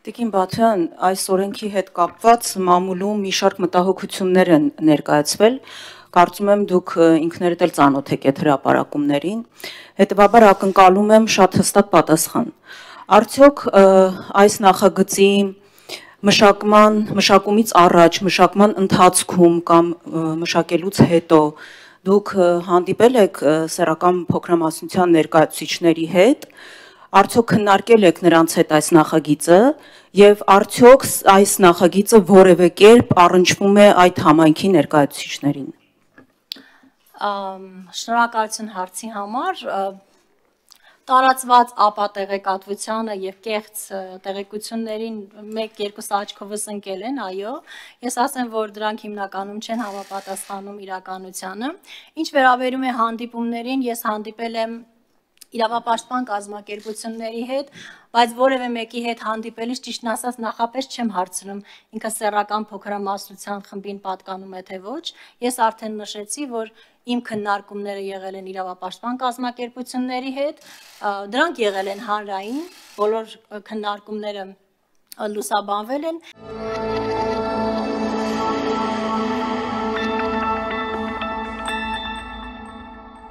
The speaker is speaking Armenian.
Տիկին Բաթյան, այս օրենքի հետ կապված մամուլում մի շարք մտահոգություններ են ներկայացվել, կարծում եմ դուք ինքներդ էլ ծանոթ եք այդ հրապարակումներին, հետևաբար ակնկալում եմ շատ հստակ պատասխան։ Արդյոք այս նախագծի մշակումից առաջ, մշակման ընթացքում կամ մշակելուց հետո դուք հանդիպել եք սեռական փոքրամասնության ներկայացուցիչների հետ, արդյոք քննարկել եք նրանց հետ այս նախագիծը եւ արդյոք այս նախագիծը որևէ կերպ առնչվում է այդ համայնքի ներկայացուցիչներին։ Շնորհակալություն հարցի համար։ Տարածված ապատեղեկատվությանը եւ կեղծ տեղեկություններին 1-2 աչքովս ընկել են, այո, ես ասեմ, որ դրանք հիմնականում չեն համապատասխանում իրականությանը։ Ինչ վերաբերում է հանդիպումներին, ես հանդիպել եմ իրավապաշտպան կազմակերպությունների հետ, բայց որևէ մեկի հետ հանդիպելիս ճիշտն ասած նախապես չեմ հարցնում ինքը սեռական փոքրամասնության խմբին պատկանում է թե ոչ։ Ես արդեն նշեցի, որ իմ քննարկումները եղել են իրավապաշտպան կազմակերպությունների հետ, դրանք եղել են հանրային, բոլոր քննարկումները լուսաբանվել են։